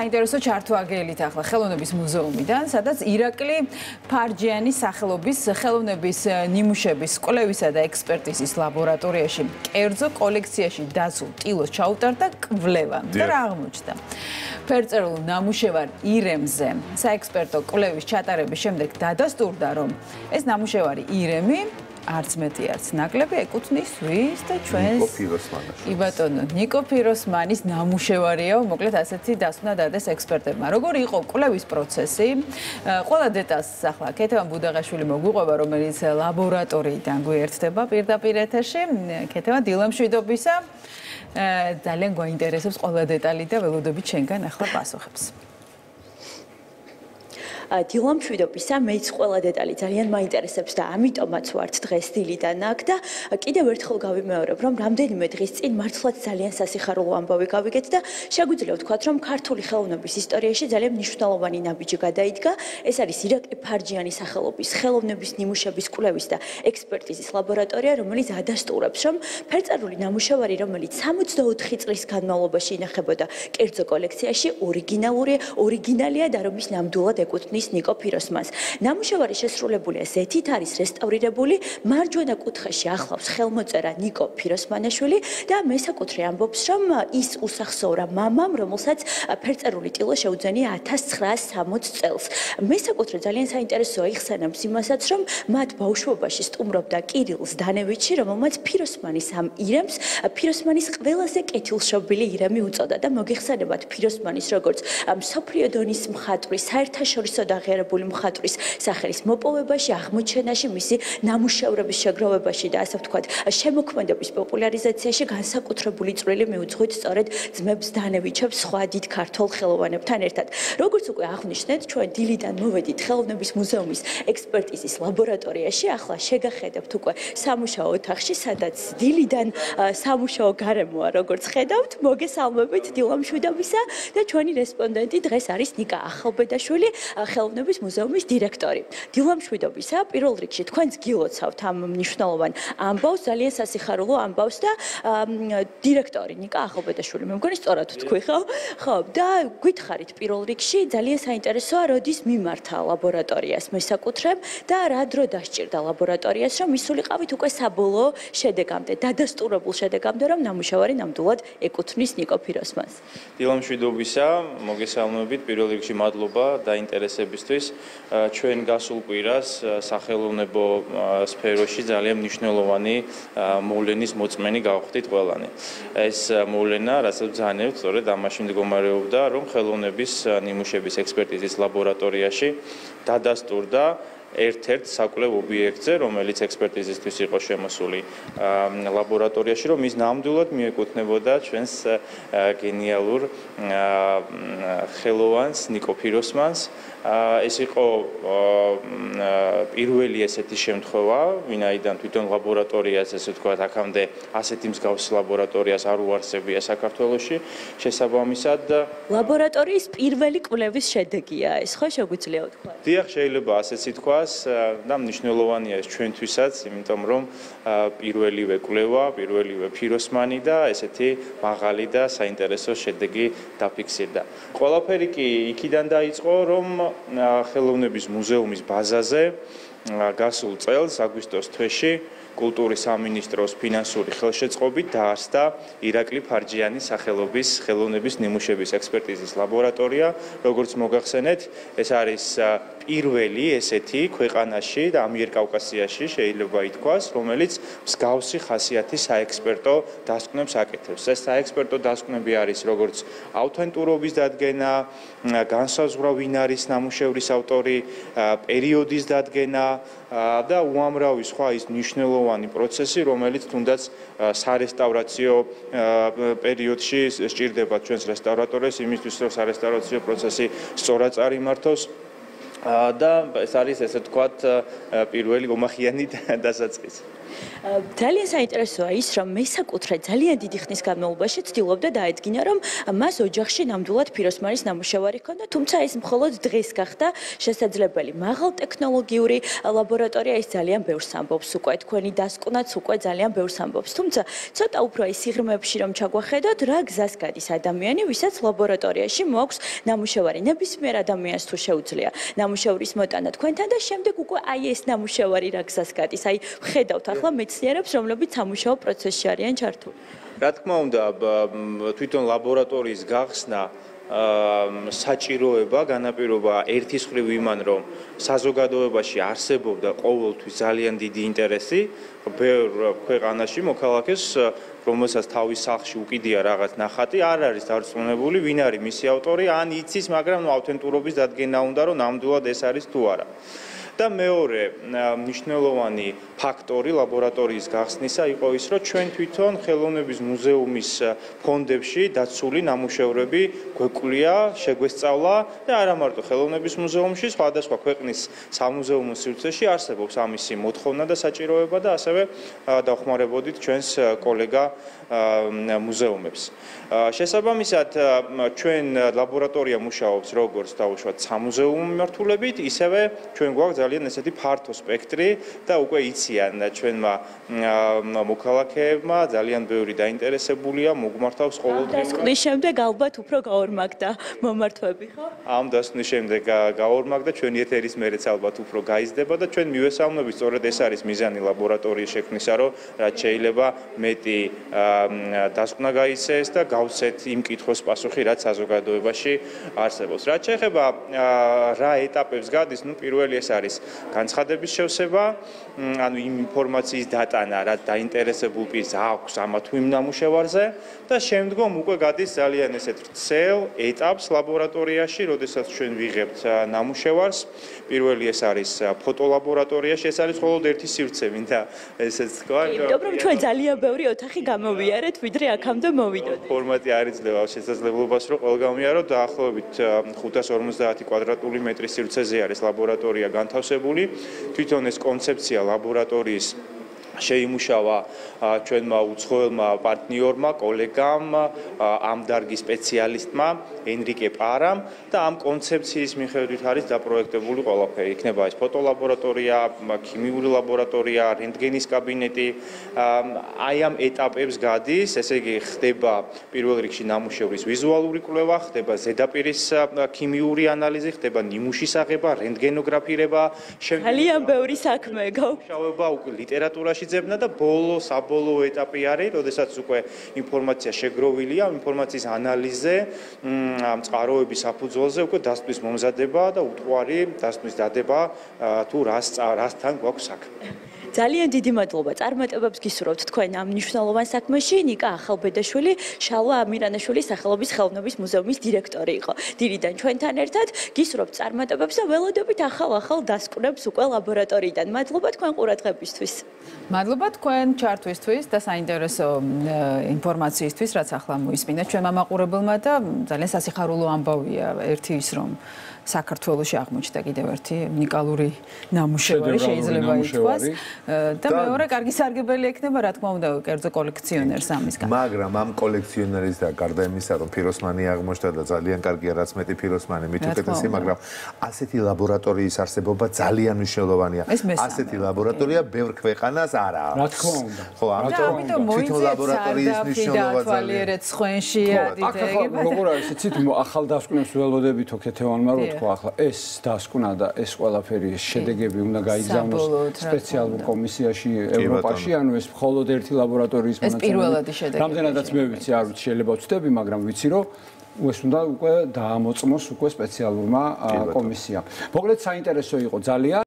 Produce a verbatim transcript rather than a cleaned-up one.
საინტერესო ჩართვა აგელით ახლა ხელოვნების მუზეუმიდან, სადაც ირაკლი ფარჯიანის სახელობის ხელოვნების ნიმუშების კვლევისა და ექსპერტიზის ლაბორატორიაში კერძო კოლექციაში დაცულ ტილოს ჩაუტარდა კვლევა და რა აღმოჩნდა. ფერწერულ ნამუშევარ ირემზე საექსპერტო კვლევის ჩატარების შემდეგ დადასტურდა, რომ ეს ნამუშევარი ირემი არც მეტი არც ნაკლები ეკუთვნის ვის და ჩვენს კი ბატონო ნიკო ფიროსმანის ნამუშევარია, მოკლედ ასეთი დასკვნა დადეს ექსპერტებმა. როგორი იყო კვლევის პროცესი? ყველა დეტალს ახლა ქეთევან ბუდაღაშვილი მოგვიყვება, რომელიც ლაბორატორიიდან გვერდება პირდაპირ ეთერში. ქეთევან, დილამშვიდობისა. ძალიან გვაინტერესებს ყველა დეტალი და ველოდებით შენგან ახლა პასუხებს. დილამშვიდობისა, მეც ყველა დეტალი ძალიან მაინტერესებს და ამიტომაც ვართ დღეს დილიდან აქ და კიდევ ერთხელ გავიმეორებ, რომ რამდენიმე დღის წინ მართლაც ძალიან სასიხარულო ამბავი გავიგეთ და შეგვიძლია ვთქვათ, რომ ქართული ხელოვნების ისტორიაში ძალიან მნიშვნელოვანი ნაბიჯი გადაიდგა. ეს არის ირაკლი ფარჯიანის სახელობის ხელოვნების ნიმუშების კვლევის და ექსპერტიზის ლაბორატორია, რომელიც ადასტურებს, რომ ფერწერული ნამუშევარი, რომელიც სამოცდაოთხი წლის განმავლობაში ინახებოდა კერძო კოლექციაში, ორიგინალური, ორიგინალია და რომ ის ნამდვილად ეკუთვნის ნიკო ფიროსმანს. ნამუშევარი შესრულებულია ზეთით, არის რესტავრირებული, მარჯვენა კუთხეში ახლავს ხელმოწერა ნიკო ფიროსმანაშვილი და მესაკუთრე ამბობს, რომ ის უსახსოვრა მამამ, რომელსაც ფერწერული ტილო შეუძენია ათას ცხრაას სამოცდ წელს. მესაკუთრე ძალიან საინტერესოა იხსენებს იმასაც, რომ მათ ბავშვობაში სტუმრობდა კირილ ზდანევიჩი, რომელმაც ფიროსმანის ამ ირემს ფიროსმანის ყველაზე კეთილშობილი ირემი უწოდა და მოგიხსენებათ ფიროსმანის როგორც მსოფლიო დონის მხატვრის, საერთაშორისო აღიარებული მხატვრის სახელის მოპოვებაში, აღმოჩენაში, მისი ნამუშევრების შეგროვებაში და ასე ვთქვათ, შემოქმედების პოპულარიზაციაში განსაკუთრებული წვლილი მიუძღვით სწორედ ძმებს დანევიჩებს სხვა დიდ ქართველ ხელოვანებთან ერთად. როგორც უკვე აღნიშნეთ, ჩვენ დილიდან მოვედით ხელოვნების მუზეუმის ექსპერტიზის ლაბორატორიაში, ახლა შეგახედებთ უკვე სამუშაო ოთახში, სადაც დილიდან სამუშაო გარემოა, როგორც ხედავთ, მოგესალმებით დილამშვიდობისა და ჩვენი რესპონდენტი დღეს არის ნიკა ახალბედაშვილი, ხელოვნების მუზეუმის დირექტორი. დილამშვიდობისა, პირველ რიგში თქვენს გილოცავთ ამ მნიშვნელოვან ამბავს, ძალიან სასიხარულო ამბავს და დირექტორი ნიკა ახალბედაშვილი, მე მგონი სწორად ვთქვი, ხო? ხო, და გითხარით პირველ რიგში, ძალიან საინტერესოა, როდის მიმართა ლაბორატორიას მესაკუთრემ და რა დრო დასჭირდა ლაბორატორიას, რომ მისულიყავით უკვე საბოლოო შედეგამდე, დადასტურებულ შედეგამდე, რომ ნამუშევარი ნამდვილად ეკუთვნის ნიკო ფიროსმანს. დილამშვიდობისა, მოგესალმებით, პირველ რიგში მადლობა დაინტერესებისთვის. ჩვენ გასულ კვირას სახელოვნებო სფეროში ძალიან მნიშვნელოვანი მოვლენის მოწმენი გავხდით ყველანი. ეს მოვლენა, რასაც ბრძანებთ, სწორედ ამაში მდგომარეობდა, რომ ხელოვნების ნიმუშების ექსპერტიზის ლაბორატორიაში დადასტურდა ერთ-ერთ საკვლევ ობიექტზე, რომელიც ექსპერტიზისთვის იყო შემოსული ლაბორატორიაში, რომ ის ნამდვილად მიეკუთვნებოდა ჩვენს გენიალურ ხელოვანს ნიკო ფიროსმანს. ეს იყო პირველი ესეთი შემთხვევა, ვინაიდან თვითონ ლაბორატორიას, ესე ვთქვათ, აქამდე ასეთი მსგავსი ლაბორატორიას არ უარსებია საქართველოში. შესაბამისად, ლაბორატორიის პირველი კვლევის შედეგია ეს, ხო შეგვიძლია ვთქვათ? დიახ, შეიძლება ასეც ითქვას და მნიშვნელოვანია ეს ჩვენთვისაც, იმიტომ რომ პირველივე კვლევა, პირველივე ფიროსმანი და ესეთი მაღალი და საინტერესო შედეგი დაფიქსირდა. ყველაფერი კი იქიდან დაიწყო, რომ ხელოვნების მუზეუმის ბაზაზე გასულ წელს აგვისტოს თვეში კულტურის სამინისტროს ფინანსური ხელშეწყობით დაარსდა ირაკლი ფარჯიანის სახელობის ხელოვნების ნიმუშების ექსპერტიზის ლაბორატორია. როგორც მოგახსენეთ, ეს არის პირველი ესეთი ქვეყანაში და ამიერკავკასიაში შეიძლება ითქვას, რომელიც მსგავსი ხასიათის საექსპერტო დასკვნებს აკეთებს. ეს საექსპერტო დასკვნები არის როგორც ავთენტურობის დადგენა, განსაზღვრა ვინ არის ნამუშევრის ავტორი, პერიოდის დადგენა და უამრავი სხვა ის მნიშვნელოვანი პროცესი, რომელიც თუნდაც სარესტავრაციო პერიოდში სჭირდება ჩვენს რესტავრატორებს იმისთვის, რომ სარესტავრაციო პროცესი სწორად წარიმართოს. და ეს არის, ესე ვთქვათ, პირველი ომახიანი დასაწყისი. ძალიან საინტერესოა ის, რომ მესაკუთრე ძალიან დიდი ხნის განმავლობაში ცდილობდა დაედგინა, რომ მას ოჯახში ნამდვილად ფიროსმანის ნამუშევარი ჰქონდა, თუმცა ეს მხოლოდ დღეს გახდა შესაძლებელი. მაღალ ტექნოლოგიური ლაბორატორია ის ძალიან ბევრს ამბობს უკვე, თქვენი დასკვნაც უკვე ძალიან ბევრს ამბობს. თუმცა ცოტა უფრო ის სიღრმეებში რომ ჩაგვახედოთ, რა გზას გადის ადამიანი, ვისაც ლაბორატორიაში მოაქვს ნამუშევარი. ნებისმიერ ადამიანს თუ შეუძლია ნამუშევრის მოტანა თქვენთან და შემდეგ უკვე აი ეს ნამუშევარი რა გზას გადის. აი ხედავთ ახლა მეცნიერებს, რომლებიც სამუშაო პროცესში არიან ჩართული. რა თქმა უნდა, თვითონ ლაბორატორიის გახსნა საჭიროება განაპირობა ერთის მხრივ იმან, რომ საზოგადოებაში არსებობდა ყოველთვის ძალიან დიდი ინტერესი ბევრ ქვეყანაში მოქალაქეს, რომელსაც თავის სახლში უკიდია რაღაც ნახატი, არ არის დარწმუნებული, ვინ არის მისი ავტორი, ან იცის, მაგრამ ავთენტურობის დადგენა უნდა, რომ ნამდვილად ეს არის თუ არა. და მეორე მნიშვნელოვანი ფაქტორი ლაბორატორიის გახსნისა იყო ის, რომ ჩვენ თვითონ ხელოვნების მუზეუმის ფონდებში დაცული ნამუშევრები გვეკვлия, შეგვესწავლა და არა მარტო ხელოვნების მუზეუმში, სხვადასხვა ქვეყნის სამუზეუმო სივრცეში არსებობს ამისი მოთხოვნა და საჭიროება და ასევე დავხმარებოდით ჩვენს კოლეგა მუზეუმებს. შესაბამისად, ჩვენ ლაბორატორია მუშაობს როგორც დაუშვათ სამუზეუმო მიმართულებით, ისევე ჩვენ გვაქვს ძალიან ესეთი ფართო სპექტრი და უკვე იციან ჩვენმა მოქალაქეებმა ძალიან ბევრი დაინტერესებულია მოგმართავს ყოველდღიურად. დასკვნის შემდეგ ალბათ უფრო გაორმაგდა მომართვები, ხო? ამ დასკვნის შემდეგ გაორმაგდა, ჩვენი ეთერის მერეც ალბათ უფრო გაიზრდება და ჩვენ მივესალმებით, სწორედ ეს არის მიზანი ლაბორატორიის შექმნისა, რომ რაც შეიძლება მეტი დასკვნა გაიცეს და გავცეთ იმ კითხვის პასუხი, რაც საზოგადოებაში არსებობს. რაც შეეხება რა ეტაპებს გადის, ნუ პირველი ეს არის განცხადების შევსება, ანუ იმ ინფორმაციის დატანა, რაც დაინტერესებულ პირს აქვს ამა თუ იმ ნამუშევარზე და შემდგომ უკვე გადის ძალიან ესეთ ვრცელ ეტაპს ლაბორატორიაში, როდესაც ჩვენ ვიღებთ ნამუშევარს. პირველი ეს არის ფოტოლაბორატორიაში, ეს არის მხოლოდ ერთი სივრცე, მინდა ესეც თქვა. იმიტომ რომ ჩვენ ძალიან ბევრი ოთახი გამოვიარეთ, ვიდრე აქამდე მოვიდოთ. ფორმატი არ იძლევა შესაძლებლობას, რომ ყველგან გამიარო დაახლოებით ხუთას ორმოცდაათი კვადრატული მეტრის სივრცეზე არის ლაბორატორია განთავსებული. თვითონ ეს კონცეფცია ლაბორატორიის შეიმუშავა ჩვენმა უცხოელმა პარტნიორმა, კოლეგამ, ამ დარგის სპეციალისტმა ენრიკე პარამ და ამ კონცეფციის მიხედვით არის დაპროექტებული ყველაფერი. იქნება ეს ფოტოლაბორატორია, ქიმიური ლაბორატორია, რენტგენის კაბინეტი. აი ამ ეტაპებს გადის, ესე იგი ხდება პირველ რიგში ნამუშევრის ვიზუალური კვლევა, ხდება ზედაპირის ქიმიური ანალიზი, ხდება ნიმუშის აღება, რენტგენოგრაფირება, ძალიან ბევრი საქმე გაქვს. მუშაობა უკვე ლიტერატურაში ძებნა და ბოლო საბოლოო ეტაპი არის, როდესაც უკვე ინფორმაცია შეგროვილია, ინფორმაციის ანალიზზე, ამ წყაროების საფუძველზე უკვე დასკვნის მომზადება და უთვარი დასკვნის დადება თუ რასთან გვაქვს საქმე. ძალიან დიდი მადლობა. წარმატებებს გისურვებთ თქვენ ამ მნიშვნელოვან საქმეში. ნიკა ახალბედაშვილი, შალვა ამირანაშვილი სახელობის ხელოვნების მუზეუმის დირექტორი იყო. დილიდან ჩვენთან ერთად გისურვებთ წარმატებებს და ველოდებით ახალ-ახალ დასკვნებს უკვე ლაბორატორიიდან. მადლობა თქვენ ყურადღებისთვის. მადლობა თქვენ ჩართვისთვის და საინტერესო ინფორმაციისთვის, რაც ახლა მოისმინეთ ჩვენმა მაყურებელმა და ძალიან სასიხარულო ამბავია ერთი ის, რომ საქართველოში აღმოჩნდა კიდევ ერთი უნიკალური ნამუშევარი, შეიძლება ითქვას. და მეორე კარგი სარგებელი ექნება, რა თქმა უნდა, კერძო კოლექციონერს ამისგან. მაგრამ ამ კოლექციონერის და გარდა იმისა, რომ ფიროსმანი აღმოჩნდა და ძალიან კარგია, რაც მეტი ფიროსმანი, მით უკეთესი, მაგრამ ასეთი ლაბორატორიის არსებობა ძალიან მნიშვნელოვანია. ასეთი ლაბორატორია ბევრ ქვეყანას არ აქვს. რა თქმა უნდა. ხო, ამიტომ თვითონ ლაბორატორიის მნიშვნელობა ძალიან ხვენში ადიდეგება. როგორ არის, იცით, ახალდასკვნებს ველოდებით ოქეთევანმა რო თქვა, ახლა ეს დასკვნა და ეს ყველაფერი შედეგები უნდა გაიგზავნოს სპეციალურ კომისიაში ევროპაში, ანუ ეს მხოლოდ ერთი ლაბორატორიის მონაცემები. ეს პირველადი შედეგები. რამდენადაც მე ვიცი, არ ვიცი, შეიძლება ვწდები, მაგრამ ვიცი, რომ ეს უნდა უკვე დაამოწმოს უკვე სპეციალურმა კომისიამ. მოკლედ საინტერესო იყო ძალიან.